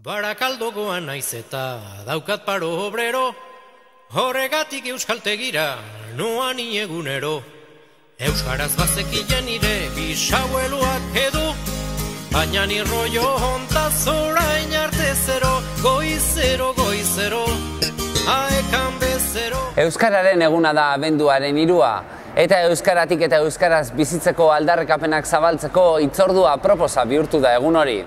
Barakaldokoan naiz eta daukat paro obrero, horregatik euskaltegira noan egunero. Euskaraz bazekien nire bisaueluak edo, baina ni rollo hontaz orain arte zero, goizero, goizero, aekan bezero. Euskararen eguna da abenduaren 3, eta euskaratik eta euskaraz bizitzeko aldarrikapenak zabaltzeko hitzordua proposa bihurtu da egun hori.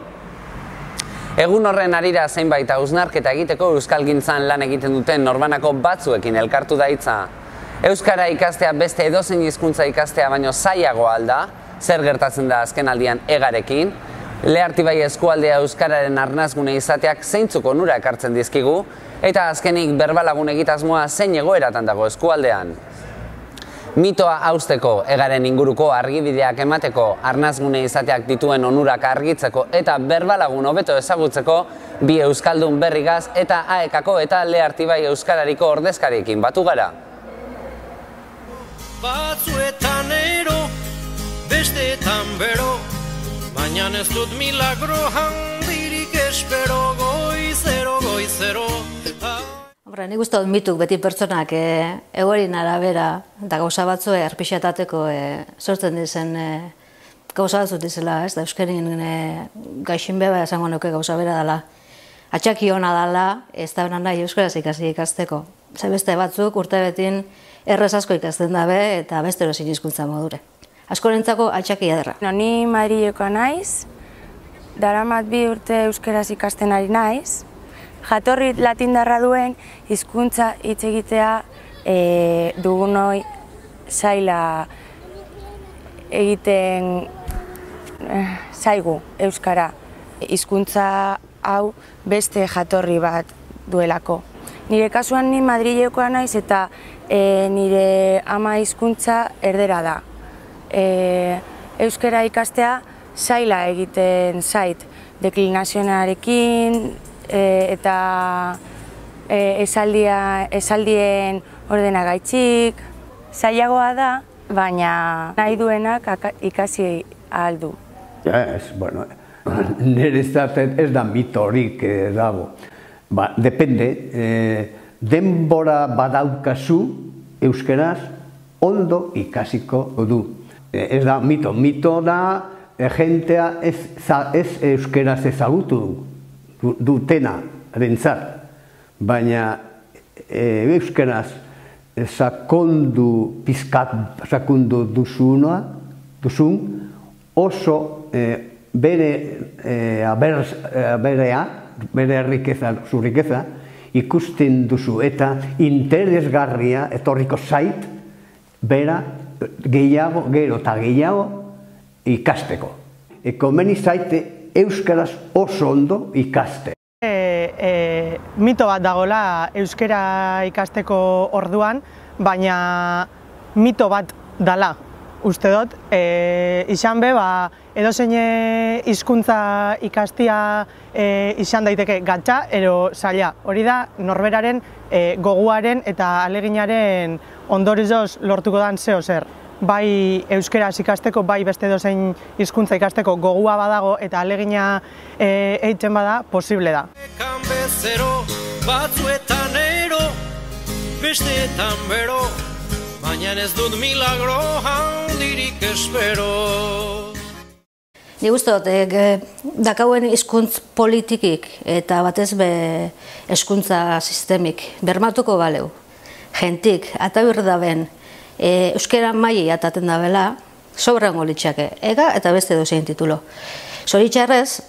Egun horren harira zeinbait hausnarketa egiteko euskalgintzan lan egiten duten norbanako batzuekin elkartu da hitza. Euskara ikastea beste edozein hizkuntza ikastea baino zailagoa al da, zer gertatzen da azkenaldian egarekin, Lehartibai eskualdea euskararen arnasgune izateak zeintzuk onura ekartzen dizkigu, eta azkenik berbalagun egitasmoa zein egoeratan dago eskualdean. Mitoa hausteko, egaren inguruko argibideak emateko, arnasgune izateak dituen onurak argitzeko eta berbalagun hobeto ezagutzeko, bi euskaldun berrigaz eta AEKako eta Lehartibai euskarariko ordezkariekin batu gara. Batzuetan ero, besteetan bero, baina ez dut milagro handirik espero, goizero, goizero. Nik uste dut mituk beti pertsonak egoerin arabera eta gauza batzu erpixatateko sortzen dizen gauza batzut dizela, ez da euskerin gaixin beba esango nuke gauza bera dela. Atxaki hona dela, ez da benan nahi euskaraz ikasteko. Ze beste batzuk urte betin errez asko ikasten dabe eta beste erozin hizkuntza modure. Askorentzako atxaki ederra. Ni Madrilekoa naiz, daramat 2 urte euskaraz ikasten ari naiz. Jatorri latindarra duen hizkuntza hitz egitea dugunoi zaila egiten zaigu euskara. Hizkuntza hau beste jatorri bat duelako. Nire kasuan ni Madrilekoa naiz eta nire ama hizkuntza erdera da. Euskara ikastea zaila egiten zait, deklinazionarekin, eta esaldien ordenagaitzik. Zailagoa da, baina nahi duenak ikasi ahal du. Bueno, nire ez da mitorik dago. Depende, denbora badaukazu euskeraz ondo ikasiko du. Ez da mito, mito da jentea ez euskeraz ezagutu dutena rentzat, baina euskeraz sakondu duzun oso bere riqueza ikusten duzu eta interesgarria etorriko zait bera gehiago, gero eta gehiago ikasteko. Komeni zaite euskaraz oso ondo ikaste. Mito bat dagoela euskara ikasteko orduan, baina mito bat dala, uste dut. Izan be, edozein hizkuntza ikastia izan daiteke gatza ero zaila. Hori da norberaren goguaren eta aleginaren ondorioz lortuko dan zeo zer. Bai euskeraz ikasteko, bai beste edozein hizkuntza ikasteko gogua badago eta alegina eitzen bada, posible da. Aekan bezero, batzuetan ero, besteetan bero, baina ez dut milagro handirik espero. Nik uste dut, dakauen hizkuntz politikik eta batez be hezkuntza sistemik bermatuko baleu. Jentik, eta birdaben, euskera maili ataten da bela, sobrango litxake, ega eta beste dozein titulo. Zoritxarrez,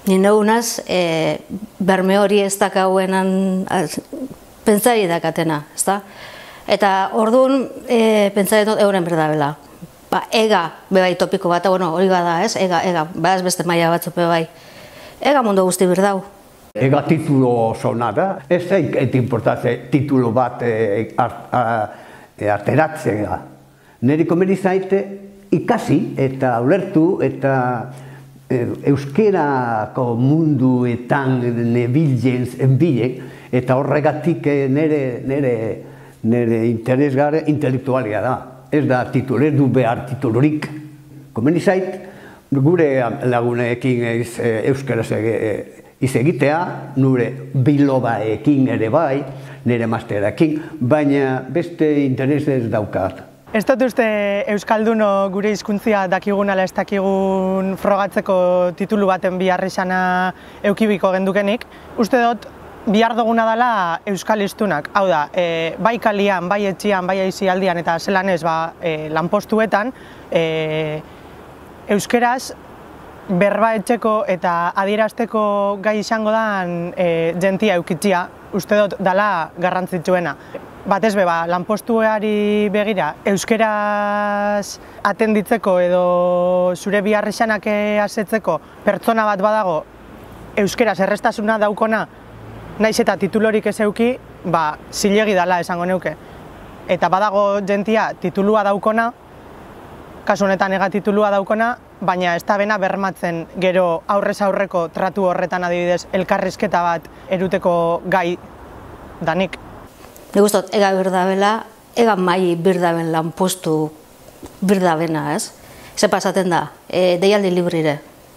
nire unaz, berme hori ez dakauenan pentsari dakatena, ezta? Eta orduan, pentsari dut euren berda bela. Ega, bebai topiko bat, hori bada, ez? Ega, ez beste maila batzuk bebai. Ega mundu guzti berdau. Ega titulo zona da, ez zaik importatze titulo bat ateratzea. Neri komeni zaite ikasi eta ulertu eta euskerako munduetan nebilen eta horregatik nire interesgarri intelektualia da. Ez da titulu, ez du behar titulurik. Komeni zait, gure lagunekin euskaraz iz egitea, nure bilobaekin ere bai, nire masterakin, baina beste interes ez daukat. Ez dut uste Euskalduno gure hizkuntzia dakigun ala ez dakigun frogatzeko titulu baten bihar izana eukibiko gendukenik. Uste dut bihar duguna dela euskal hiztunak. Hau da, bai kalian, bai etxian, bai aisialdian eta zelan ez lanpostuetan euskeraz berba etxeko eta adierazteko gai izango dan jentia eukitzia, uste dut dela garrantzitsuena. Batez be, lanpostuari begira, euskeraz atenditzeko edo zure bihar izanak asetzeko pertsona bat badago euskeraz errestasuna daukona, naiz eta titulorik ez euki, zilegi dela esango neuke. Eta badago jentia titulua daukona, kasu honetan ega titulua daukona, baina ez da bena bermatzen gero aurrez aurreko tratu horretan adibidez elkarrizketa bat eruteko gai danik. Nik uste dut, ega birdabela, ega mai birdaben lanpostu birdabena, ez? Ze pasaten da, deialdi librire.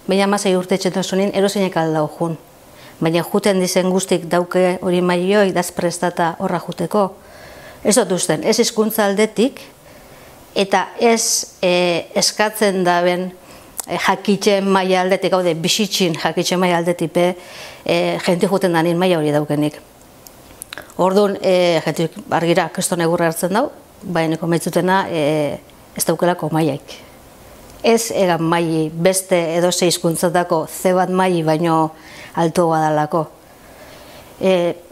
Baina 16 urte etxetasunin eroseinek aldau jun. Baina juten dizen guztik dauke hori maioi daz prestata horra juteko. Ez dut usten, ez hizkuntza aldetik, eta ez eskatzen daben jakitzen maila aldetik, haude, bisitzin jakitzen maila aldetik, jenti juten danin maila hori daukenik. Orduan, jentik argira kriston egurra hartzen dau, baina maitzutena ez daukelako maiaik. Ez egan maili beste edo ze hizkuntzatako ze bat maili baino altua badalako.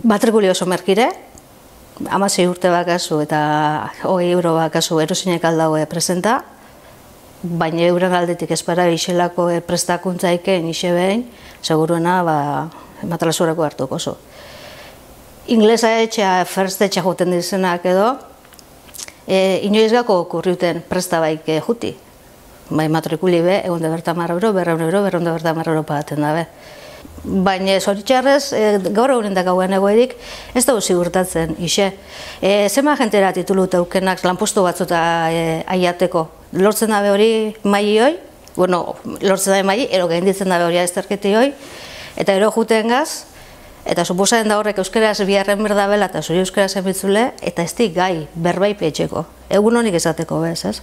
Matrikuli oso merkire, 16 urte bakazu eta 20 euro bakazu erosinek aldaue presenta, baina euren aldetik espara iselako prestakuntzaiken ise behin, seguruena matalasurako hartuko zu. Inglesa etxea, first etxea juten dizenak edo, inoiz gako kurriuten prestabaik juti. Bai matrikuli be, egun de berta €100, €200, €200 pagaten dabe. Baina zoritxarrez, gaur egunen da gauen egoerik, ez dugu zigurtatzen, ise. Zema jentera titulu teukenak lanpostu batzuta aiateko. Lortzen dabe hori maili hoi, lortzen dabe maili, ero gainditzen dabe hori azterketi hoi, eta ero juten gaz, eta suposatzen da horrek euskeraz biharren berdabela eta zuri euskaraz emitzule, eta ez di gai berbai petxeko. Egun honik esateko bez, ez?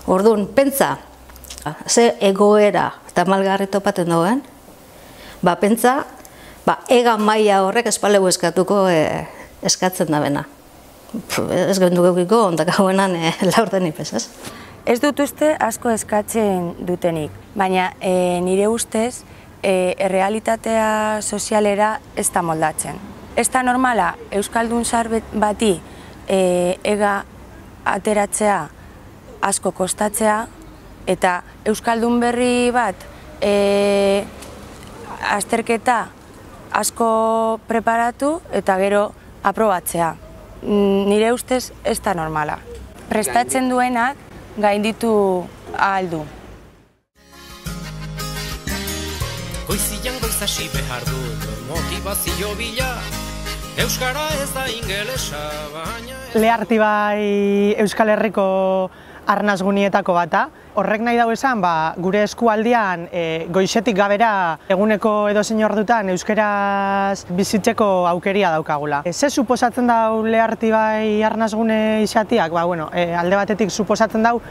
Orduan, pentsa, ze egoera eta malgarri topaten dagoen, pentsa, egan maila horrek espalegu eskatuko eskatzen da bena. Ez gendu geukiko, ondak hauenan laurden ipez, ez? Ez dut uste asko eskatzen dutenik, baina nire ustez errealitatea sozialera ez da moldatzen. Ez da normala Euskaldun zar bati ega ateratzea asko kostatzea eta Euskaldun berri bat azterketa asko preparatu eta gero aprobatzea. Nire ustez ez da normala. Prestatzen duenak gainditu ahal du. Goizian goizasi behar dut motivazio bila, euskara ez da ingelesa, baina... Leharti bai Euskal Herriko arnazgunietako bata. Horrek nahi dau esan, gure eskualdian goizetik gabera eguneko edozein ordutan euskeraz bizitzeko aukeria daukagula. Ze suposatzen dau leharti bai arnazgune izatiak? Alde batetik suposatzen dau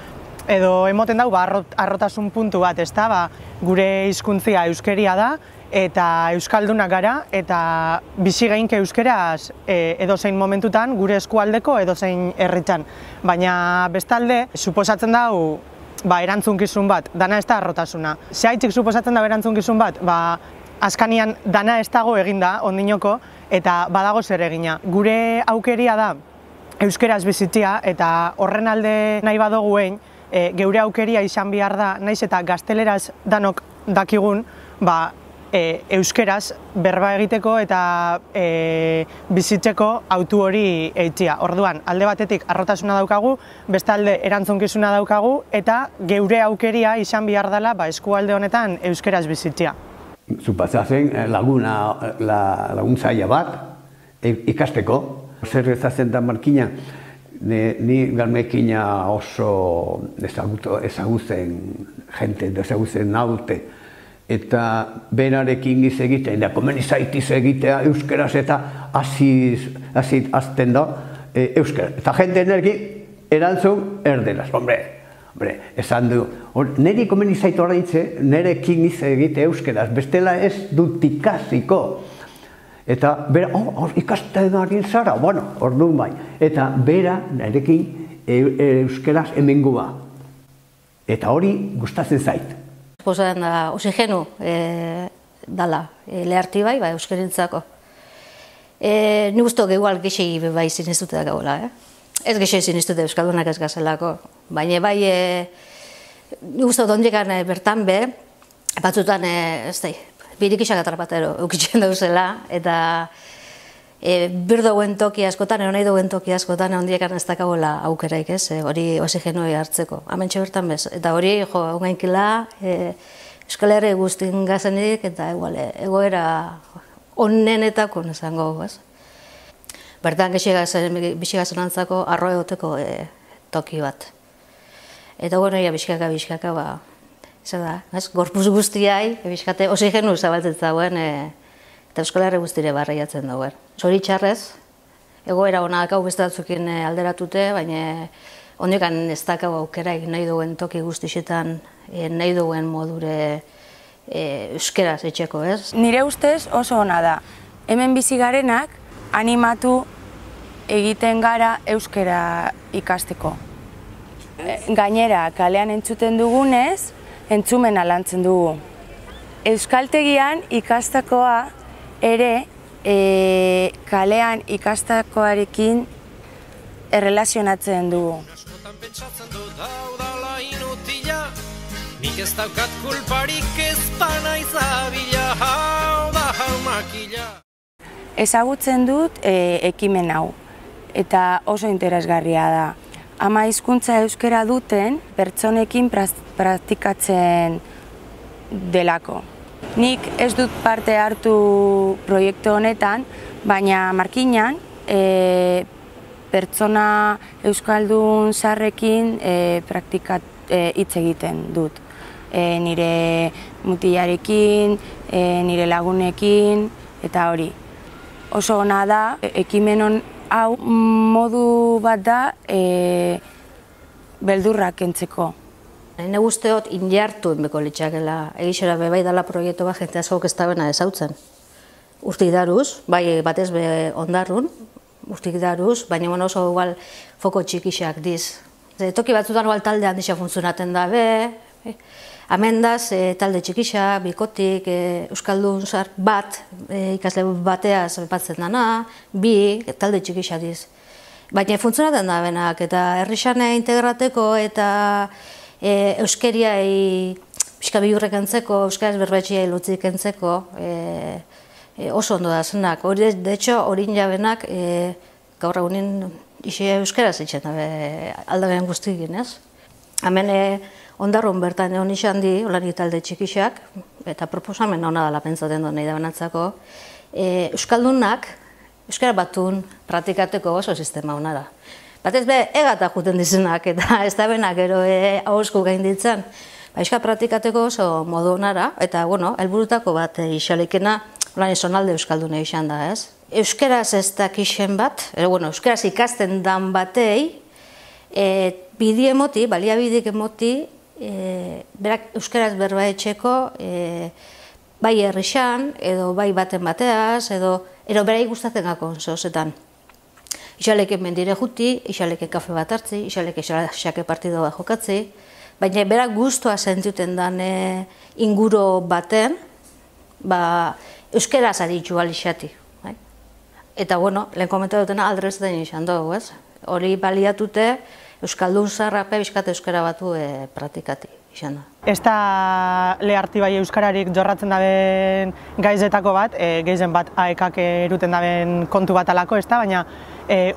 edo emoten dau arrotasun puntu bat, ezta? Gure hizkuntzia euskeria da eta euskaldunak gara eta bizi geinke euskeraz edozein momentutan gure eskualdeko edozein herritan. Baina bestalde suposatzen dau erantzunkizun bat, dana ez da arrotasuna. Zehaitzik suposatzen da erantzunkizun bat, azkanian dana ez dago eginda ondinoko eta badago zer egina. Gure aukeria da euskeraz bizitzia eta horren alde nahi badoguen geure aukeria izan behar da, naiz eta gazteleraz danok dakigun, euskeraz berba egiteko eta bizitzeko autu hori eitzia. Orduan, alde batetik arrotasuna daukagu, bestalde erantzunkizuna daukagu eta geure aukeria izan behar dela eskualde honetan euskeraz bizitzia. Supatzen laguntzaia bat ikasteko. Zer ezazen da markina, ni galmekina oso ezagutzen jente, ezagutzen naute. eta berarekin giz egitea, eta komeni zaitiz egitea euskeraz eta azten da euskera. Eta jende energi erantzun erderaz, hombre, esan du, niri komeni zaitu oraintze, nerekin giz egitea euskeraz, bestela ez dut ikasiko. Eta bera, ikasten ari zara, bueno, orduan bai. Eta bera nerekin euskeraz hemengua. Eta hori gustatzen zait. Posan da, oxigenu dala, leharti bai, euskerintzako. Ni guztok egual gexi bai ziniztute da gaula, Ez gexi ziniztute euskaldunak ez gazelako. Baina bai, ni guztok ondikan bertan be, batzutan, ez da, birik isak atrapatero eukitzen dauzela, eta birdouen toki askotan, nahi duen toki askotan, ondiekan ez dakagoela aukeraik, hori oxigenoi hartzeko. Hementxe bertan bez. Eta hori, ongainkila, Euskal Herri guztin gazenik, eta egoera onenetako nezango, ez? Bertan bixigazen antzako arro egoteko toki bat. Eta bueno, biskaka, gorpuz guztiai, biskate oxigenu zabaltzen zauen, eta Euskal Herri guztire barreiatzen dauen. Zoritxarrez, egoera honak hau beste batzukin alderatute, baina ondiekan ez dakau aukeraik nahi duen toki guztixetan, nahi duen modure euskeraz etxeko, ez? Nire ustez oso ona da. Hemen bizi garenak animatu egiten gara euskera ikasteko. Gainera, kalean entzuten dugunez, entzumena lantzen dugu. Euskaltegian ikastakoa ere kalean ikastakoarekin errelazionatzen dugu. Askotan pentsatzen dut hau dala inutila, nik ez daukat kulparik ez panaiz abila, hau da hau makila. Ezagutzen dut ekimen hau, eta oso interesgarria da. Ama hizkuntza euskera duten pertsonekin praktikatzen delako. Nik ez dut parte hartu proiektu honetan, baina markinan pertsona euskaldun zaharrekin hitz egiten dut. Nire mutilarekin, nire lagunekin, eta hori. Oso ona da, ekimen hau modu bat da beldurrak kentzeko. Nire guzteot injartu enbeko litxakela, egixera bebai dala proiektu bat jente askok ez dabena ezautzen. Urtik daruz, bai batez be ondarrun, urtik daruz, baina oso igual foko txikixak diz. Toki batzutan igual talde handixak funtzionaten da be, amendaz talde txikixak, bikotik, euskaldun zar bat, ikasle bateaz batzen dana, bi, talde txikixak diz. Baina funtzionaten da benak, eta herrixane integrateko eta euskeriai pixka bihurrek entzeko, euskaraz berbaitxiai lutzik entzeko, oso ondo da zenak. De hecho, horin jabenak gaur egunin euskaraz itxen aldabean guztikin, ez? Hemen ondarrun bertan egon izan di, olanik talde txikixak, eta proposamen hona dela pentsaten duen nahi da benatzako, euskaldunak, euskara batun praktikateko oso sistema hona da. Batez be, egata juten dizenak, eta ez da benak gero hauzko gain ditzen. Euskara praktikateko oso modu honara, eta, bueno, helburutako bat isalikena, lan izonalde euskaldune izan da, ez? Euskaraz ez dakixen bat, euskaraz ikasten dan batei, bidie emoti, baliabidik emoti, berak euskaraz berba etxeko, bai herrixan, edo bai baten bateaz, edo berai gustatzen gako zozetan. Ixaleke mendire juti, ixaleke kafe bat hartzi, ixaleke xake partido bat jokatzi, baina berak guztua sentuten dan inguro baten, euskaraz aditu alixati. Eta, bueno, lehen komentatu dutena aldrezetan izan dugu, ez? Hori baliatute, euskaldun zarrape bizkate euskara batu praktikati izan da. Ez da leharti bai euskararik jorratzen daben gaizetako bat, gehien bat aekak eruten daben kontu bat alako, ez da, baina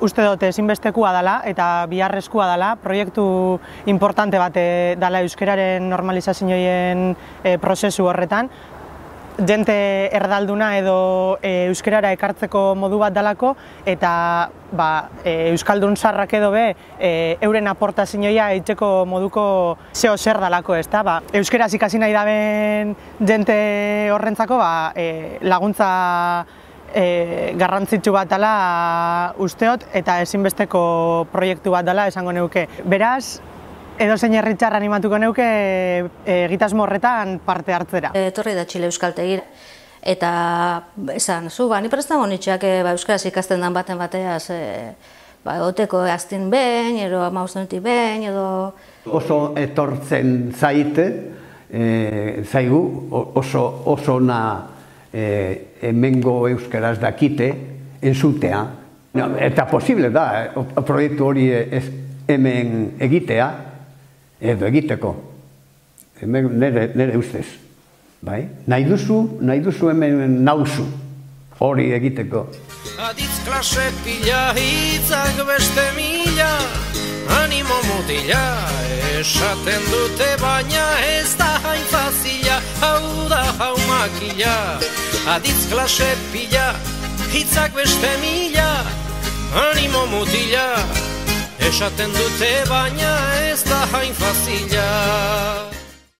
uste dut ezinbestekua dela eta biharrezkoa dela, proiektu importante bat dela euskararen normalizazioen prozesu horretan. jente erdalduna edo euskerara ekartzeko modu bat dalako, eta euskaldun sarrak edo euren aportazioa eitzeko moduko zeo zer dalako, ezta? Euskeraz ikasi nahi daben jente horrentzako laguntza garrantzitsu bat dela usteot, eta ezinbesteko proiektu bat dela esango neuke. Beraz, edozein herritar animatuko neuke egitasmo horretan parte hartzera. Etorri da Txile euskaltegira, eta esan, ni prest nago nitxeak euskaraz ikasten dan baten bateaz, egoteko aztin behin, edo 15 behin, edo... Oso etortzen zaigu, oso na hemengo euskaraz dakite, entzutea. Eta posible da, proiektu hori hemen egitea, edo egiteko, nire ustez. Nahi duzu hemen nauzu hori egiteko. Aditz klase pila, hitzak beste mila, animo mutila, esaten dute baina ez da hain fazila, hau da hau makila. Aditz klase pila, hitzak beste mila, animo mutila, esaten dute baina ez da hain fazila.